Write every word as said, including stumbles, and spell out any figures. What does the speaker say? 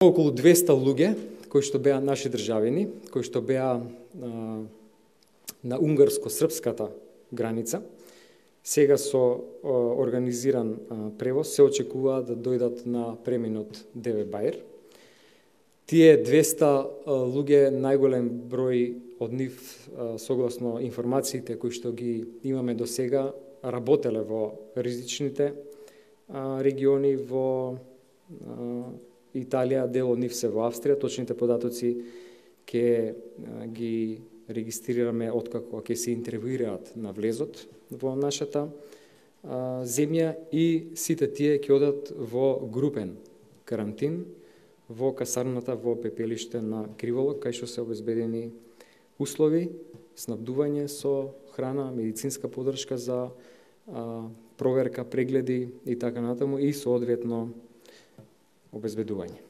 Околу двесте луѓе кои што беа наши државини, кои што беа а, на унгарско-српската граница, сега со а, организиран а, превоз се очекува да дојдат на преминот Деве Баир. Тие двесте а, луѓе, најголем број од нив, а, согласно информациите кои што ги имаме до сега, работеле во ризичните а, региони во а, Италија, дел од нив се во Австрија. Точните податоци ќе ги регистрираме откако ќе се интервјуираат на влезот во нашата а, земја, и сите тие ќе одат во групен карантин во касарната во пепелиште на Криволок, кај што се обезбедени услови, снабдување со храна, медицинска поддршка за а, проверка, прегледи и така натаму, и соодветно обезбедување.